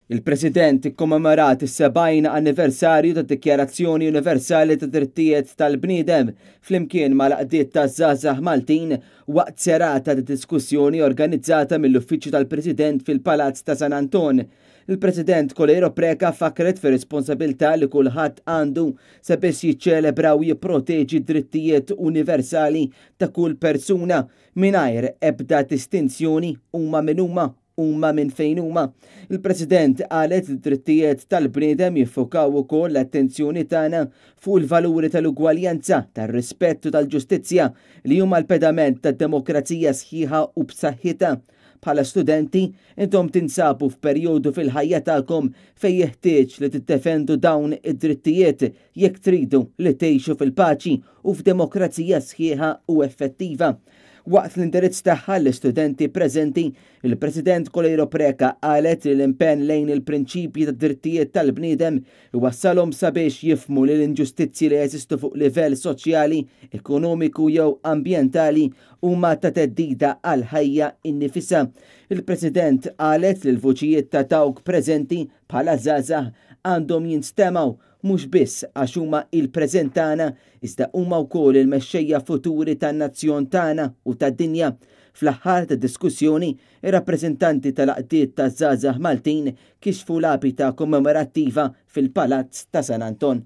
Il-President ikkommemorat is-70 anniversarju tad-Dikjarazzjoni Universali tad-Drittijiet tal-Bniedem flimkien mal-għaqdiet taż-żgħażagħ Maltin waqt serata ta' diskussjoni organizzata mill-Uffiċċju tal-President fil-Palazz ta' San Anton. Il-President Coleiro Preca fakkret fir-responsabilità li kulħadd għandu sabiex jiċċelebra u jipproteġi d-drittijiet universali ta' kull persuna mingħajr ebda distinzjoni huma min huma huma minn fejn huma. Il-President qalet li d-drittijiet tal-bniedem jiffukaw ukoll l-attenzjoni tagħna fuq il-valuri tal-ugwaljanza, tar-rispett u tal-ġustizzja li huma l-pedament tad-demokrazija sħiħa u b'saħħitha. Bħala studenti, intom tinsabu f'perjodu fil-ħajja tagħkom fejn jeħtieġ li tiddefendu dawn id-drittijiet jekk tridu li tgħixu fil-paċi u f'demokrazija sħiħa u effettiva. Waqt l-indirizz tagħha l-istudenti preżenti, il-President Coleiro Preca qalet li l-impenn lejn il-prinċipji tad-drittijiet tal-bniedem iwassalhom sabiex jifhmu li l-inġustizzji li jeżistu fuq livell soċjali, ekonomiku jew ambjentali huma ta' theddida għall-ħajja innifisha. Il-President qalet li l-vuċijiet ta' dawk preżenti bħala żgħażagħ għandhom jinstemgħu mhux biss għax huma il-preżent tagħna iżda huma wkoll il-mexxejja futuri tan-nazzjon tagħna u tad-dinja. Fl-aħħar tad-diskussjoni, ir-rappreżentanti tal-għaqdiet taż-żgħażagħ Maltin kixfu lapida kommemorattiva fil-Palazz ta' San Anton.